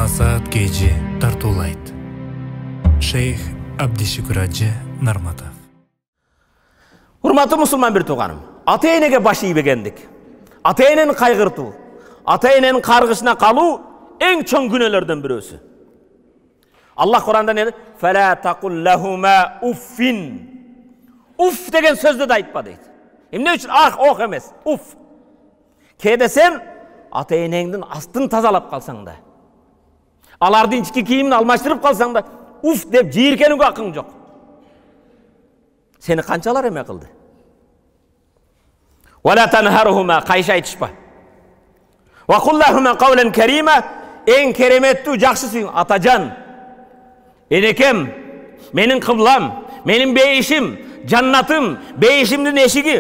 Жыма саат кечи тартуулайт. Шейх Абдишүкүр Ажы Нарматов. Урматтуу мусулман бир тууганым, ата-энеге баш ийбегендик, ата-энени кайгыртуу, ата-эненин каргышына калуу эң чоң күнөөлөрдөн бирөөсү. Аллах Куранда не дейт? Фала тaqul уффин. Уф деген сөздү да айтпа дейт. Эмне үчүн? Ох эмес, уф. Кээде сен ата-энеңдин астын тазалап калсаң да, алардын ички кийимин алмаштырып калсаң да, уф деп жийиркенүүгө акың жок. Сени канчалар эме кылды? Вала танхарухума, кайша айтышпа. Ва куллахума кавлан карима, эң кереметтүү жакшы сүйүң, атажан, энекем, менин кыблам, менин бейишим, жаннатым, бейишимдин эшиги,